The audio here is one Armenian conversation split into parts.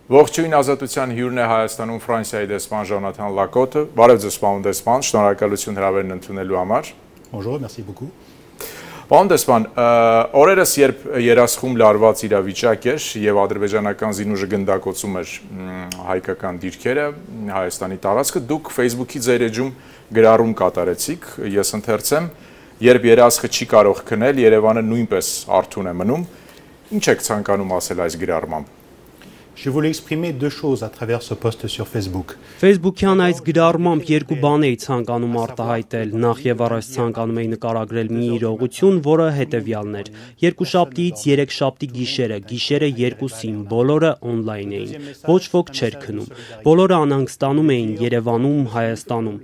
Ողջույն ազատության հյուրն է Հայաստանում Ֆրանսիայի դեսպան Ժոնաթան Լակոտը, բարև ձեզ պարոն դեսպան, շնորհակալություն հրավերն ընդունելու համար։ Bonjour, merci beaucoup. Պարոն դեսպան, օրերս երբ երասխում լարված իրավիճակ էր եւ ադրբեջանական զինուժը գնդակոծում էր հայկական դիրքերը, Հայաստանի տարածքը, դուք Facebook-ի ձեր էջում գրառում կատարեցիք, ես ընթերցեմ, երբ երասխը չի կարող քնել, Երևանը նույնպես արթուն է մնում, ինչ եք ցանկանում ասել այս գրառմամբ։ Je voulais exprimer deux choses à travers ce post sur Facebook. Facebook-յան այս գրառմամբ երկու բան էի ցանկանում արտահայտել, նախ եւ առաջ ցանկանում էի նկարագրել մի իրողություն, որը հետեւյալն էր. երկուշաբթիից երեքշաբթի գիշերը 2-ին, բոլորը on-line էին, ոչ ոք չէր քնում, բոլորը անհանգստանում էին Երևանում, Հայաստանում։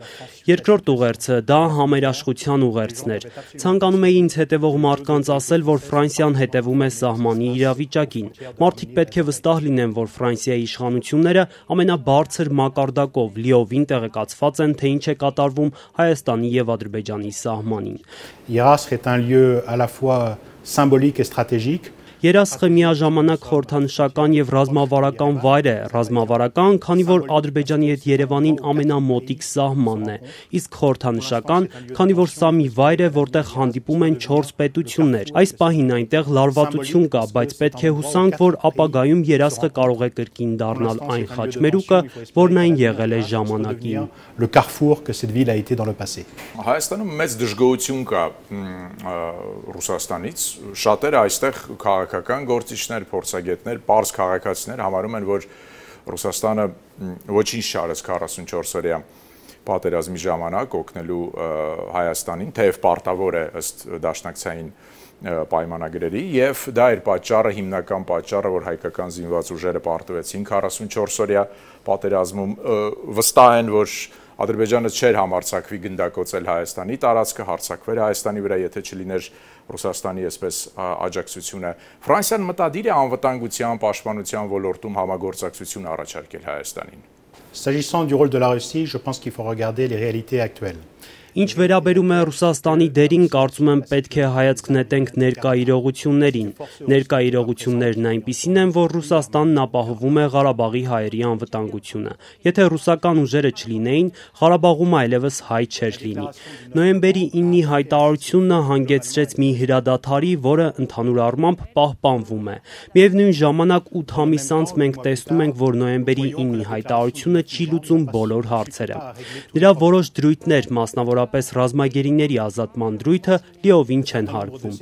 Երկրորդ ուղերձը դա համերաշխության ուղերձն էր։ Ցանկանում էի ինձ հետևող մարդկանց ասել, որ Ֆրանսիան հետևում է սահմանի իրավիճակին։ Մարդիկ պետք է վստահ լինեն, որ Ֆրանսիայի իշխանությունները ամենաբարձր մակարդակով լիովին տեղեկացված են, թե ինչ է կատարվում Հայաստանի եւ Ադրբեջանի սահմանին։ Երասխ est un lieu à la fois symbolique et stratégique. Երասխը միաժամանակ խորհրդանշական եւ ռազմավարական վայր է, ռազմավարական, քանի որ Ադրբեջանի հետ Երևանին ամենամոտիկ սահմանն է, իսկ խորհրդանշական, քանի որ սա մի վայր է, որտեղ հանդիպում են 4 պետություններ։ Այս պահին այնտեղ լարվածություն կա, բայց պետք է հուսանք, որ ապագայում Երասխը կարող է կրկին դառնալ այն խաչմերուկը, որն այն եղել է ժամանակին։ Le carrefour que cette ville a été dans le passé. Հայաստանում մեծ դժգոհություն կա Ռուսաստանից, շատերը այստեղ քաղաքական գործիչներ, փորձագետներ, պարզ քաղաքացիներ համարում են, որ Ռուսաստանը ոչինչ չարեց 44-օրյա պատերազմի ժամանակ օգնելու Հայաստանին, թեև պարտավոր է ըստ դաշնակցային պայմանագրերի, եւ դա էր պատճառը, հիմնական պատճառը, որ հայկական զինված ուժերը պարտվեցին 44-օրյա պատերազմում, վստահ են, որ Ադրբեջանը չէր համարձակվի գնդակոծել Հայաստանի տարածքը, հարձակվեր Հայաստանի վրա, եթե չլիներ Ռուսաստանի այսպես աջակցությունը։ Ֆրանսիան մտադիր է անվտանգության, պաշտպանության ոլորտում համագործակցություն առաջարկել Հայաստանին։ S'agissant du rôle de la Russie, je pense qu'il faut regarder les réalités actuelles. Ինչ վերաբերում է Ռուսաստանի դերին, կարծում եմ պետք է հայացք նետենք ներկա իրողություններին։ Ներկա իրողություններն այնպիսին են, որ Ռուսաստանն ապահովում է Ղարաբաղի հայերի անվտանգությունը։ Եթե ռուսական ուժերը չլինեին, Ղարաբաղում այլևս հայ չէր լինի։ Նոյեմբերի 9-ի հայտարարությունը հանգեցրեց մի հրադադարի, որը ընդհանուր առմամբ պահպանվում է։ Միևնույն ժամանակ 8 ամիս անց մենք տեսնում ենք, որ նոյեմբերի 9-ի հայտարարությունը չի լուծում բոլոր հարցերը։ Դրա որոշ դրույթներ, մասնավորապես ռազմագերիների ազատման դրույթը լիովին չեն հարգվում։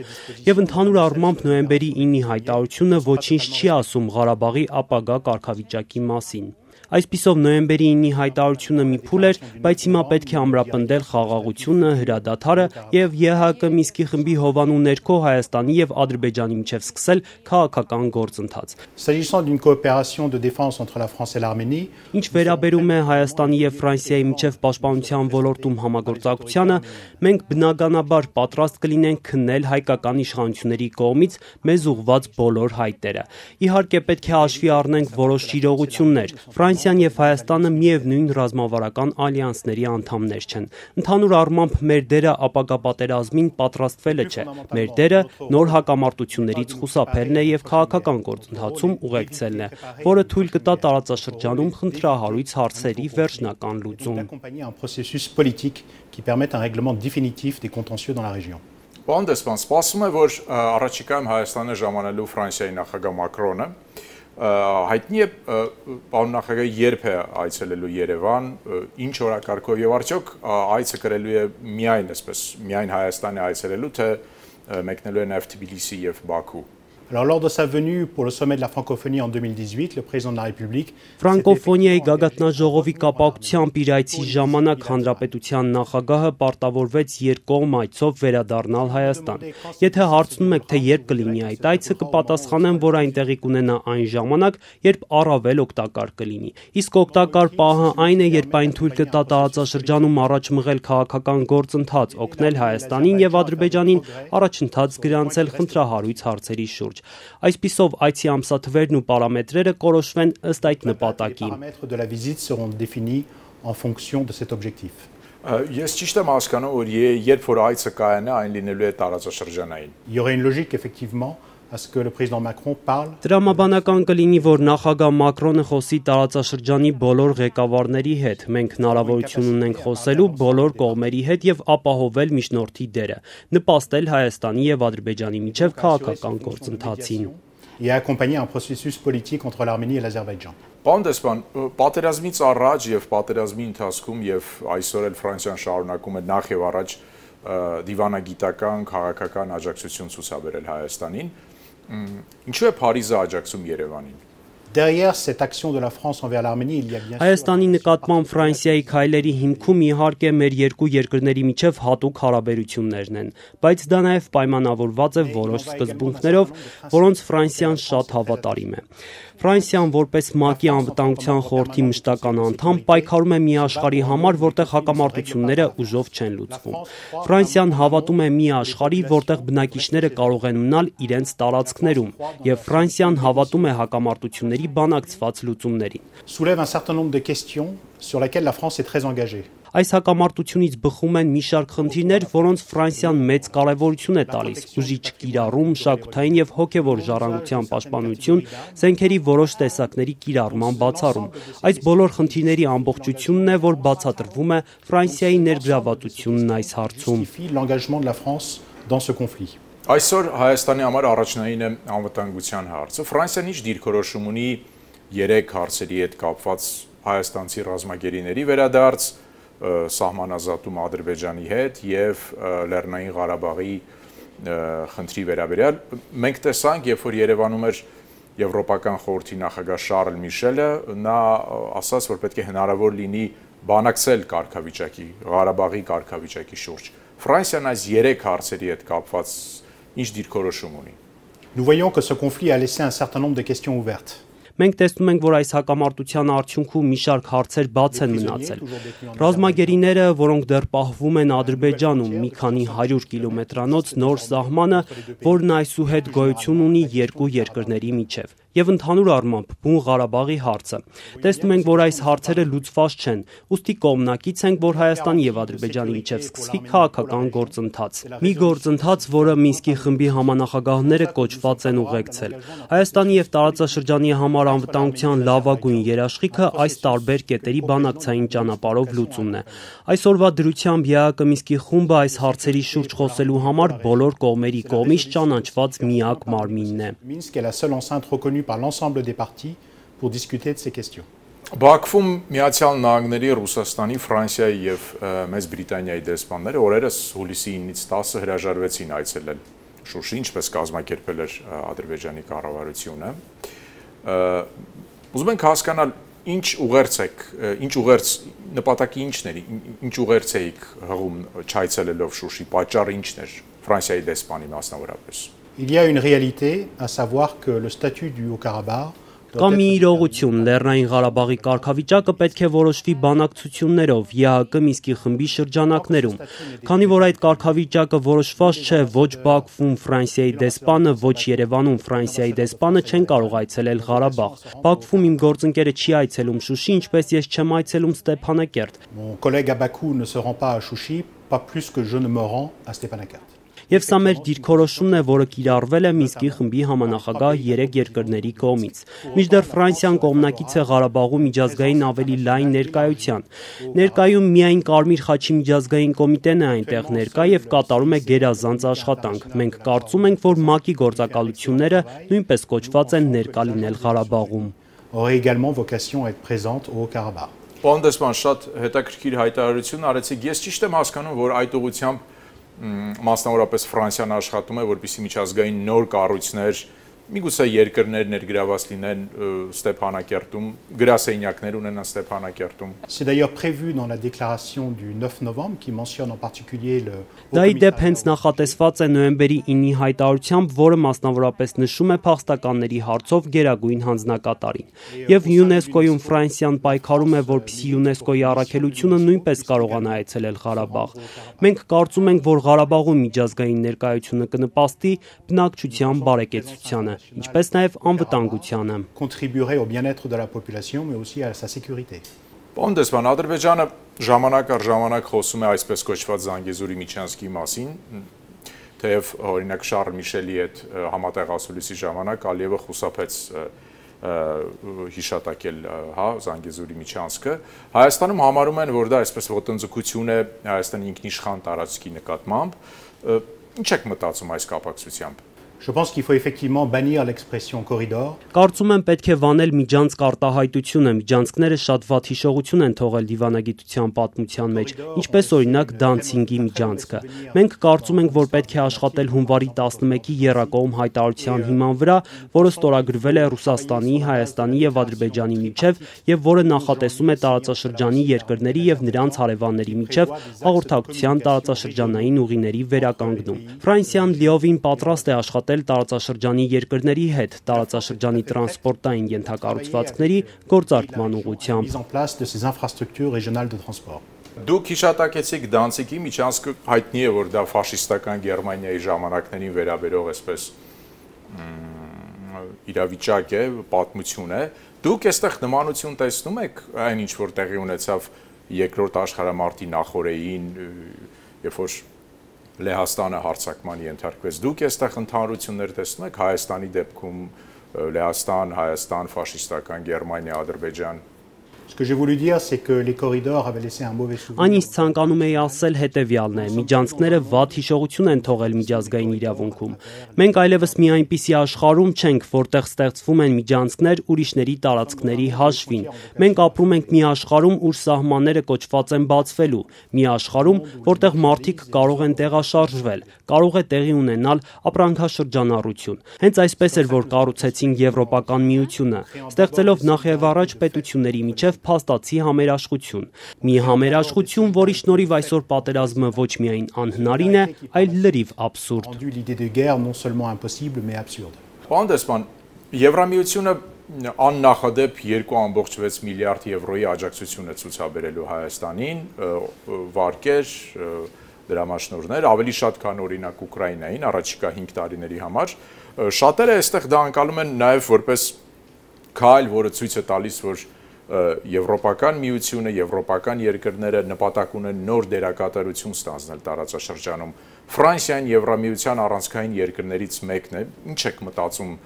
Եվ ընդհանուր առմամբ նոյեմբերի 9-ի հայտարարությունը ոչինչ չի ասում Ղարաբաղի ապագա կարգավիճակի մասին։ Այսպիսով նոյեմբերի 9-ի հայտարարությունը մի փուլ էր, բայց հիմա պետք է ամրապնդել խաղաղությունը, հրադադարը եւ ԵՀԿ Մինսկի խմբի հովանու ներքո Հայաստանի եւ Ադրբեջանի միջև սկսել քաղաքական գործընթաց։ S'agissant d'une coopération de défense entre la France et l'Arménie, Ինչ վերաբերում է Հայաստանի եւ Ֆրանսիայի միջև պաշտպանության ոլորտում համագործակցությանը, մենք բնականաբար պատրաստ կլինենք քննել հայկական իշխանությունների կողմից մեզ ուղղված բոլոր հայտերը։ Իհարկե պետք է հաշվի առնենք որոշ իրողություններ։ Ֆրանսիան եւ Հայաստանը միևնույն ռազմավարական ալյանսների անդամներ չեն։ Ընդհանուր առմամբ մեր դերը ապագա պատերազմին պատրաստվելը չէ։ Մեր դերը նոր հակամարտություններից խուսափելն է եւ քաղաքական գործընթացում ուղեկցելն է, որը թույլ կտա տարածաշրջանում խնդրահարույց հարցերի վերջնական լուծում։ d'accompagner un processus politique qui permette un règlement définitif des contentieux dans la région. Պարոն դեսպան, սպասվում է, որ առաջիկայում Հայաստանը ժամանելու Ֆրանսիայի նախագահ Մակրոնը հայտնի է պարոն նախագահը երբ է այցելելու Երևան, ինչ օրակարգով եւ արդյոք այցը կրելու է միայն Հայաստանի այցելելու, թե մեկնելու է նաեւ Թբիլիսի եւ Բաքու։ Alors, lors de sa venue pour le sommet de la francophonie en 2018, le président de la République Ֆրանկոֆոնիայի գագաթնաժողովի կապակցությամբ իր այցի ժամանակ հանրապետության նախագահը պարտավորվեց երկկողմ այցով վերադառնալ Հայաստան։ Եթե հարցնում եք, թե երբ կլինի այդ այցը, կպատասխանեմ, որ այն տեղի կունենա այն ժամանակ, երբ առավել օգտակար կլինի։ Իսկ օգտակար պահը այն է, երբ այն թույլ կտա տարածաշրջանում առաջ մղել քաղաքական գործընթաց, օգնել Հայաստանին եւ Ադրբեջանին առաջընթաց գրանցել խնդրահարույց հարցերի շուրջ։ Այսպիսով այցի ամսաթվերն ու պարամետրերը կորոշվեն ըստ այդ նպատակի։ Les paramètres de la visite seront définis en fonction de cet objectif. Ես ճիշտ եմ հասկանում, որ երբ որ այցը կայանա, այն լինելու է տարածաշրջանային։ Il y aurait une logique effectivement à ce que le président Macron parle. Տրամաբանական կլինի, որ նախագահ Մակրոնը խոսի տարածաշրջանի բոլոր ղեկավարների հետ։ Մենք հնարավորություն ունենք խոսելու բոլոր կողմերի հետ եւ ապահովել միջնորդի դերը, նպաստել Հայաստանի եւ Ադրբեջանի միջև քաղաքական գործընթացին Et accompagner un processus politique entre l'Arménie et l'Azerbaïdjan. Պարոն դեսպան, պատերազմից առաջ եւ պատերազմի ընթացքում եւ այսօր էլ Ֆրանսիան շարունակում է նախ եւ առաջ դիվանագիտական, քաղաքական աջակցություն ցուցաբերել Հայաստանին, ինչու է Փարիզը աջակցում Երևանին։ Derrière cette action de la France envers l'Arménie, il y a bien sûr Հայաստանի նկատմամբ Ֆրանսիայի քայլերի հիմքում իհարկե մեր երկու երկրների միջև հատուկ հարաբերություններն են, բայց դա նաև պայմանավորված է որոշ սկզբունքներով, որոնց Ֆրանսիան շատ հավատարիմ է։ Ֆրանսիան որպես ՄԱԿ-ի անվտանգության խորհրդի մշտական անդամ պայքարում է մի աշխարհի համար, որտեղ հակամարտությունները ուժով չեն լուծվում։ Ֆրանսիան հավատում է մի աշխարհի, որտեղ բնակիչները կարող են մնալ իրենց տարածքներում, եւ Ֆրանսիան հավատում է հակամարտությունների բանակցված լուծումներին։ soulève un certain nombre de questions sur lesquelles la France est très engagée. Այս հակամարտությունից բխում են մի շարք խնդիրներ, որոնց Ֆրանսիան մեծ կարևորություն է տալիս՝ ուժի չկիրառում, մշակութային եւ հոգեվոր ժառանգության պաշտպանություն, զենքերի որոշ տեսակների կիրառման բացառում։ Այս բոլոր խնդիրների ամբողջությունն է, որ բացատրվում է Ֆրանսիայի ներգրավվածությունն այս հարցում։ L'engagement de la France dans ce conflit. Այսօր Հայաստանի համար առաջնային է անվտանգության հարցը։ Ֆրանսիան ինչ դիրքորոշում ունի 3 հարցերի հետ կապված հայաստանցի ռազմագերիների վերադարձ, սահմանազատում Ադրբեջանի հետ եւ Լեռնային Ղարաբաղի խնդրի վերաբերյալ։ Մենք տեսանք, երբ որ Երևանում էր Եվրոպական խորհրդի նախագահ Շարլ Միշելը, նա ասաց, որ պետք է հնարավոր լինի բանակցել կարգավիճակի, Ղարաբաղի կարգավիճակի շուրջ։ Ֆրանսիան այս 3 հարցերի հետ կապված ինչ դիրքորոշում ունի։ Nous voyons que ce conflit a laissé un certain nombre de questions ouvertes. Մենք տեսնում ենք, որ այս հակամարտության արդյունքում մի շարք հարցեր բաց են մնացել։ Ռազմագերիները, որոնք դեռ պահվում են Ադրբեջանում, մի քանի 100 կիլոմետրանոց նոր սահմանը, որն այսուհետ գոյություն ունի երկու երկրների միջև, եւ ընդհանուր առմամբ Բուն Ղարաբաղի հարցը։ Տեսնում ենք, որ այս հարցերը լուծված չեն, ուստի կողմնակից ենք, որ Հայաստանի եւ Ադրբեջանի միջև սկսվի քաղաքական գործընթաց։ Մի գործընթաց, որը Մինսկի խմբի համանախագահները կոչված են ուղեկցել։ Հայաստանի եւ տարածաշրջանի համար անվտանգության լավագույն երաշխիքը այս տարբեր կետերի բանակցային ճանապարհով լուծումն է։ Այսօրվա դրությամբ ԵԱՀԿ Մինսկի խումբը այս հարցերի շուրջ խոսելու համար բոլոր կողմերի կողմից ճանաչված միակ մարմինն է։ Minsk est la seule enceinte reconnue par l'ensemble des partis pour discuter de ces questions. Բաքվում Միացյալ Նահանգների, Ռուսաստանի, Ֆրանսիայի եւ Մեծ Բրիտանիայի դեսպանները օրերս հուլիսի 9-ից 10-ը հրաժարվեցին այցելել Շուշի, ինչպես կազմակերպել էր Ադրբեջանի կառավարությունը։ Ուզում ենք հասկանալ ինչ ուղերձ նպատակի ինչն էր, ինչ ուղերձ էիք հղում չայցելելով Շուշի, պատճառը ինչն էր Ֆրանսիայի դեսպանի մասնավորապես։ Il y a une réalité, à savoir que le statut du Haut-Karabakh Կա մի իրողություն, Լեռնային Ղարաբաղի կարգավիճակը պետք է որոշվի բանակցություններով ԵԱՀԿ Մինսկի խմբի շրջանակներում։ Քանի որ այդ կարգավիճակը որոշված չէ, ոչ Բաքվում Ֆրանսիայի դեսպանը, ոչ Երևանում Ֆրանսիայի դեսպանը չեն կարող այցելել Ղարաբաղ։ Բաքվում իմ գործընկերը չի այցելում Շուշի, ինչպես ես չեմ այցելում Ստեփանակերտ։ Mon collègue à Bakou ne se rend pas à Chouchi, pas plus que je ne me rends à Stepanakert. Եվ սա մեր դիրքորոշումն է, որը կիրառվել է Մինսկի խմբի համանախագահ 3 երկրների կողմից։ Մինչդեռ Ֆրանսիան կողմնակից է Ղարաբաղում միջազգային ավելի լայն ներկայության։ Ներկայում միայն Կարմիր խաչի միջազգային կոմիտեն է այնտեղ ներկա եւ կատարում է գերազանց աշխատանք։ Մենք կարծում ենք, որ ՄԱԿ-ի գործակալությունները նույնպես կոչված են ներկա լինել Ղարաբաղում։ Aurait également vocation à être présente au Haut-Karabakh. Պարոն դեսպան, շատ հետաքրքիր հայտարարություն արեցիք։ Ես ճիշտ եմ հասկանում, որ այդ ուղղությամբ մասնավորապես Ֆրանսիան աշխատում է, որպեսզի միջազգային նոր կառույցներ, միգուցե երկրներ ներգրաված լինեն Ստեփանակերտում, գրասենյակներ ունենան Ստեփանակերտում։ C'est d'ailleurs prévu dans la déclaration du 9 novembre qui mentionne en particulier le Դա ի դեպ հենց նախատեսված է նոյեմբերի 9-ի հայտարարությամբ, որը մասնավորապես նշում է փախստականների հարցով գերագույն հանձնակատարին։ Եվ ՅՈՒՆԵՍԿՕ-ում Ֆրանսիան պայքարում է, որպեսզի ՅՈՒՆԵՍԿՕ-ի առաքելությունը նույնպես կարողանա այցելել Ղարաբաղ։ Մենք կարծում ենք, որ Ղարաբաղում միջազգային ներկայությունը կնպաստի բնակչության բարեկեցությանը, ինչպես նաև անվտանգությանը։ contribuerait au bien-être de la population mais aussi à sa sécurité. Պարոն դեսպան, Ադրբեջանը ժամանակ առ ժամանակ խոսում է այսպես կոչված Զանգեզուրի միջանցքի մասին, թեև օրինակ Շարլ Միշելի հետ համատեղ ասուլիսի ժամանակ Ալիևը խուսափեց հիշատակել Զանգեզուրի միջանցքը, Հայաստանում համարում են, որ դա այսպես ոտնձգություն է Հայաստանի ինքնիշխան տարածքի նկատմամբ, ինչ եք մտածում այս կապակցությամբ։ Je pense qu'il faut effectivement bannir l'expression corridor. Կարծում եմ պետք է վանել միջանցք արտահայտությունը, միջանցքները շատ վատ հիշողություն են թողել դիվանագիտության պատմության մեջ, ինչպես օրինակ Դանցինգի միջանցքը։ Մենք կարծում ենք, որ պետք է աշխատել հունվարի 11-ի եռակողմ հայտարարության հիման վրա, որը ստորագրվել է Ռուսաստանի, Հայաստանի եւ Ադրբեջանի միջև եւ որը նախատեսում է տարածաշրջանի երկրների եւ նրանց հարևանների միջև հաղորդակցության տարածաշրջանային ուղիների վերականգնում։ Ֆրանսիան լիովին պատրաստ է աշխատել տարածաշրջանի երկրների հետ տարածաշրջանի տրանսպորտային ենթակառուցվածքների գործարկման ուղղությամբ։ Դուք հիշատակեցիք Դանցիգի միջանցքը, հայտնի է, որ դա ֆաշիստական Գերմանիայի ժամանակներին վերաբերող այսպես իրավիճակ է, պատմություն է։ Դուք այստեղ նմանություն տեսնում եք այն ինչ որ տեղի ունեցավ երկրորդ աշխարհամարտի նախօրեին, երբ որ Լեհաստանը հարձակման ենթարկվեց։ Դուք այստեղ ընդհանրություններ տեսնում եք Հայաստանի դեպքում Լեհաստան, Հայաստան, ֆաշիստական Գերմանիա, Ադրբեջան։ Ce que j'ai voulu dire, c'est que les corridors avaient laissé un mauvais souvenir. Այն ինչ ցանկանում էի ասել հետևյալն է. միջանցքները վատ հիշողություն են թողել միջազգային իրավունքում։ Մենք այլևս մի այնպիսի աշխարհում չենք, որտեղ ստեղծվում են միջանցքներ ուրիշների տարածքների հաշվին։ Մենք ապրում ենք մի աշխարհում, ուր սահմանները կոչված են բացվելու, մի աշխարհում, որտեղ մարդիկ կարող են տեղաշարժվել, կարող է տեղի ունենալ ապրանքաշրջանառություն։ Հենց այսպես էր, որ կառուցեցին Եվրոպական միությունը, ստեղծելով նախ եւ առաջ պետությունների միջև փաստացի համերաշխություն։ Մի համերաշխություն, որի շնորհիվ այսօր պատերազմը ոչ միայն անհնարին է, այլ լրիվ աբսուրդ։ Պարոն Դեսպան, Եվրամիությունը աննախադեպ 2.6 միլիարդ եվրոյի աջակցություն է ցուցաբերելու Հայաստանին, վարկեր, դրամաշնորհներ, ավելի շատ քան օրինակ Ուկրաինային առաջիկա 5 տարիների համար։ Շատերը այստեղ դա անցալում են նաև որպես քայլ, որը ցույց է տալիս, որ Եվրոպական միությունը, եվրոպական երկրները նպատակ ունեն նոր դերակատարություն ստանձնել տարածաշրջանում։ Ֆրանսիան Եվրամիության առանցքային երկրներից մեկն է։ Ինչ եք մտածում,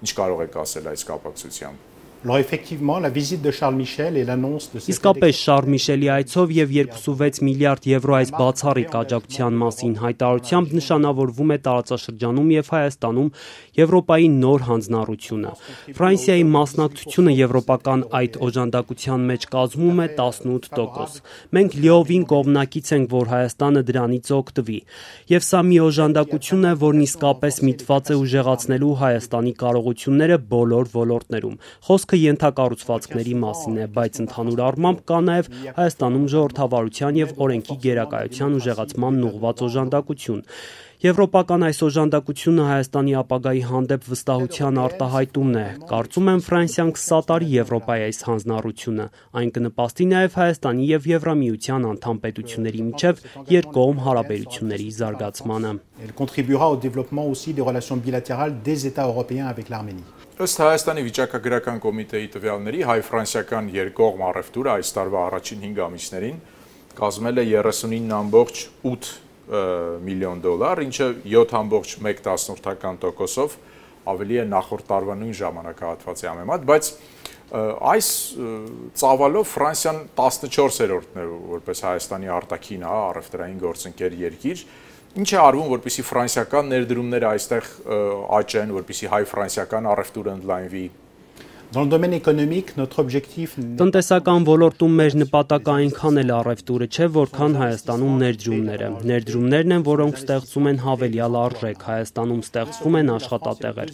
ինչ կարող եք ասել այս կապակցությամբ։ Alors effectivement, la visite de Charles Michel et l'annonce de cette Իսկապես Շարլ Միշելի այցով եւ 2.6 միլիարդ եվրո այս բացառիկ աջակցության մասին հայտարարությամբ նշանավորվում է տարածաշրջանում եւ Հայաստանում Եվրոպայի նոր հանձնառությունը։ Ֆրանսիայի մասնակցությունը եվրոպական այդ օժանդակության մեջ կազմում է 18%։ Մենք լիովին կողմնակից ենք, որ Հայաստանը դրանից օգտվի։ Եվ սա մի օժանդակություն է, որն իսկապես միտված է ուժեղացնելու Հայաստանի կարողությունները բոլոր ոլորտներում։ Խոսքը ենթակառուցվածքների մասին է, բայց ընդհանուր առմամբ կա նաև Հայաստանում ժողովրդավարության եւ օրենքի գերակայության ուժեղացման ուղղված օժանդակություն։ Եվրոպական այս օժանդակությունը Հայաստանի ապագայի հանդեպ վստահության արտահայտումն է։ Կարծում եմ Ֆրանսիան կսատարի Եվրոպայի այս հանձնառությունը։ Այն կնպաստի նաև Հայաստանի եւ Եվրամիության անդամ պետությունների միջև երկկողմ հարաբերությունների զարգացմանը։ Elle contribuera au développement aussi des relations bilatérales des États européens avec l'Arménie. Ըստ Հայաստանի վիճակագրական կոմիտեի տվյալների հայ-ֆրանսիական երկկողմ առևտուրը այս տարվա առաջին 5 ամիսներին կազմել է 39.8 միլիոն դոլար, ինչը 7.1%-ով ավելի է նախորդ տարվա նույն ժամանակահատվածի համեմատ, բայց այս ծավալով Ֆրանսիան 14-րդն է որպես Հայաստանի արտաքին առևտրային գործընկեր երկիր։ Ինչ է արվում, որպեսզի ֆրանսիական ներդրումները այստեղ աճեն, որպեսզի հայ-ֆրանսիական առևտուրը ընդլայնվի։ Dans le domaine économique, notre objectif Տնտեսական ոլորտում մեր նպատակը այնքան էլ առևտուրը չէ, որքան Հայաստանում ներդրումները։ Ներդրումներն են, որոնք ստեղծում են հավելյալ արժեք, Հայաստանում ստեղծվում են աշխատատեղեր։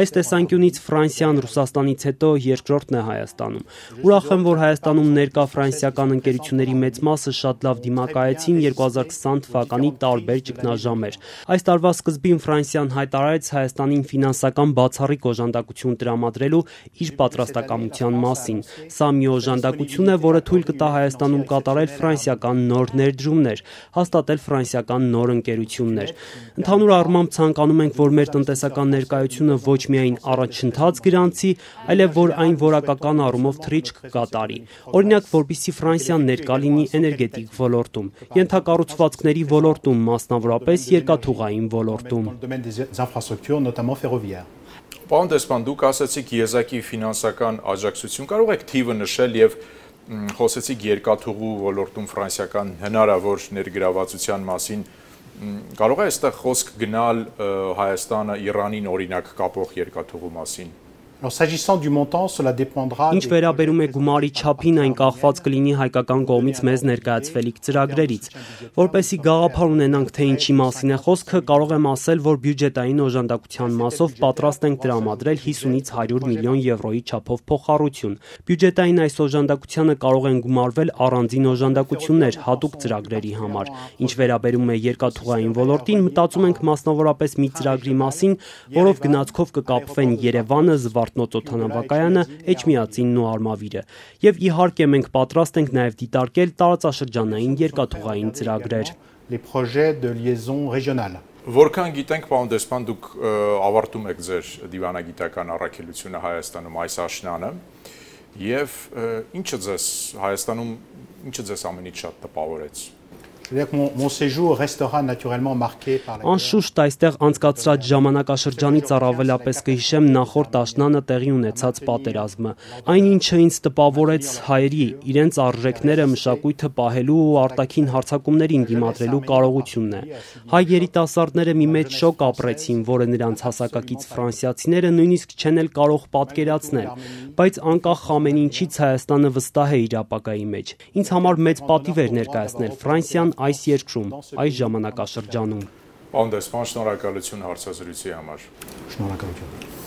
Այս տեսանկյունից Ֆրանսիան Ռուսաստանից հետո երկրորդն է Հայաստանում։ Ուրախ եմ, որ Հայաստանում ներկա ֆրանսիական ընկերությունների մեծ մասը շատ լավ դիմակայեցին 2020 թվականի տարբեր ճգնաժամեր։ Այս տարվա սկզբին Ֆրանսիան հայտարարեց Հայաստանին ֆինանսական բացառիկ օժանդակություն տրամադրելու իր իր պատրաստակամության մասին։ Սա մի օժանդակություն է, որը թույլ կտա Հայաստանում կատարել ֆրանսիական նոր ներդրումներ, հաստատել ֆրանսիական նոր ընկերություններ։ Ընդհանուր առմամբ ցանկանում ենք, որ մեր տնտեսական ներկայությունը ոչ միայն առաջընթաց գրանցի, այլև որ այն որակական առումով թռիչք կկատարի։ Օրինակ, որպեսզի Ֆրանսիան ներկա լինի էներգետիկ ոլորտում, ենթակառուցվածքների ոլորտում, մասնավորապես երկաթուղային ոլորտում։ Պարոն դեսպան, դուք ասացիք եզակի ֆինանսական աջակցություն, կարող եք թիվը նշել եւ խոսեցիք երկաթուղու ոլորտում ֆրանսիական հնարավոր ներգրավվածության մասին, կարող է այստեղ խոսք գնալ Հայաստանը Իրանին օրինակ կապող երկաթուղու մասին։ Ինչ վերաբերում է գումարի չափին, այն կախված կլինի հայկական կողմից մեզ ներկայացվելիք ծրագրերից։ Որպեսզի գաղափար ունենանք, թե ինչի մասին է խոսքը, կարող եմ ասել, որ բյուջետային օժանդակության մասով պատրաստ ենք տրամադրել 50-ից 100 միլիոն եվրոյի չափով փոխառություն։ Բյուջետային այս օժանդակությանը կարող են գումարվել առանձին օժանդակություններ հատուկ ծրագրերի համար։ Ինչ վերաբերում է երկաթուղային ոլորտին, մտածում ենք մասնավորապես մի ծրագրի մասին, որով գնացքով կկապվեն Երևանը, Զվարթնոց օդանավակայանը, Էջմիածինն ու Արմավիրը։ Եվ իհարկե մենք պատրաստ ենք նաև դիտարկել տարածաշրջանային երկաթուղային ծրագրեր։ Որքան գիտենք, պարոն դեսպան, դուք ավարտում եք ձեր դիվանագիտական առաքելությունը Հայաստանում այս աշնանը, եւ ինչը ձեզ ամենից շատ տպավորեց։ Անշուշտ այստեղ անցկացրած ժամանակաշրջանից առավելապես կհիշեմ նախորդ աշնանը տեղի ունեցած պատերազմը։ Այն ինչը ինձ տպավորեց հայերի իրենց արժեքները, մշակույթը պահելու ու արտաքին հարձակումներին դիմադրելու կարողությունն է։ Հայ երիտասարդները մի մեծ շոկ ապրեցին, որը նրանց հասակակից ֆրանսիացիները նույնիսկ չեն էլ կարող պատկերացնել, բայց անկախ ամեն ինչից Հայաստանը վստահ է իր ապագայի մեջ։ Ինձ համար մեծ պատիվ էր ներկայացնել Ֆրանսիան այս երկրում, այս ժամանակաշրջանում։ Պարոն դեսպան, շնորհակալություն հարցազրույցի համար։ Շնորհակալություն։